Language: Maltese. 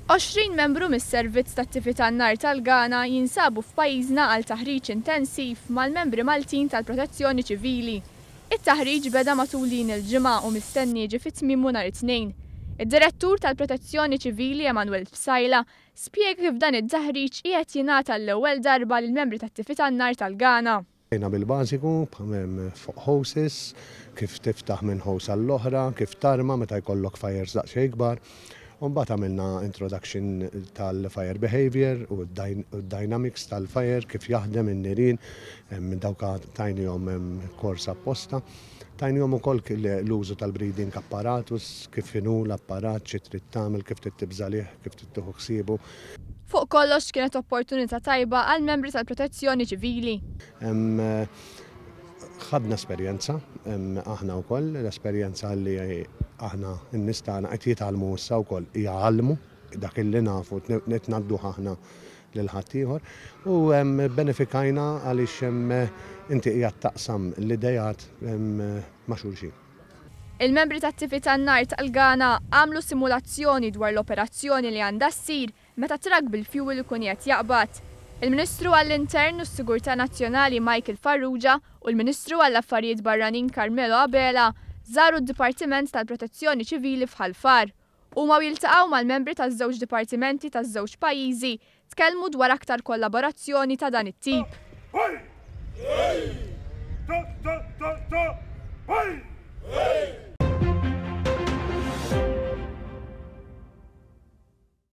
20 membru mis-Servizz tat-Tifi tan-Nar tal-Ghana jinsabu f'pajjiżna għal taħriġ intensiv mal-membri Maltin tal-Protezzjoni Ċivili. It-taħriġ beda matul din il-ġimgħa u mistenni jiġi fi tmiemu nhar it-Tnejn. Id-Direttur tal-Protezzjoni Ċivili Emanuel Psaila spjega kif dan it-taħriġ qiegħed jingħata għall-ewwel darba lill-membri tat-Tifi tan-Nar tal-Ghana. Bdejna bil-bażiku, fuq hoses, kif tiftaħ minn hose għall-oħra, kif tarma meta jkollok fires daqsxejn ikbar. U mbagħad għamilna introduction tal-fire behaviour u d-dynamics tal-fire, kif jaħdem in-nirien, dawk tajnihom kors apposta. Tajnihom ukoll l-użu tal-breathing apparatus, kif inhu l-apparat, xi trid tagħmel, kif trid tibża' lih, kif trid tieħu ħsiebu. Fuq kollox kienet opportunità tajba għall-membri tal-Protezzjoni Ċivili. Ħadna esperjenza, aħna wkoll, l-esperjenza li aħna n-nies tagħna qed jitgħallmu issa wkoll jgħallmu dak illi nafu qed ngħadduh aħna lil ħaddieħor u bbenefikajna għaliex inti qiegħed taqsam l-ideat ma' xulxin. Il-membri tat-Tifi tan-Nar tal-Ghana għamlu simulazzjoni dwar l-operazzjoni li għandha ssir meta trakk bil-fjuwil ikun qiegħed jaqbad. Il-Ministru għall-Intern u s-Sigurtà Nazzjonali Michael Farrugia u l-Ministru għall-Affarijiet Barranin Carmelo Abela żaru d-Dipartiment tal-Protezzjoni Ċivili f'Ħal Far. Huma u jiltaqgħu mal-membri taż-żewġ dipartimenti taż-żewġ pajjiżi tkellmu dwar aktar kollaborazzjoni ta' dan it-tip.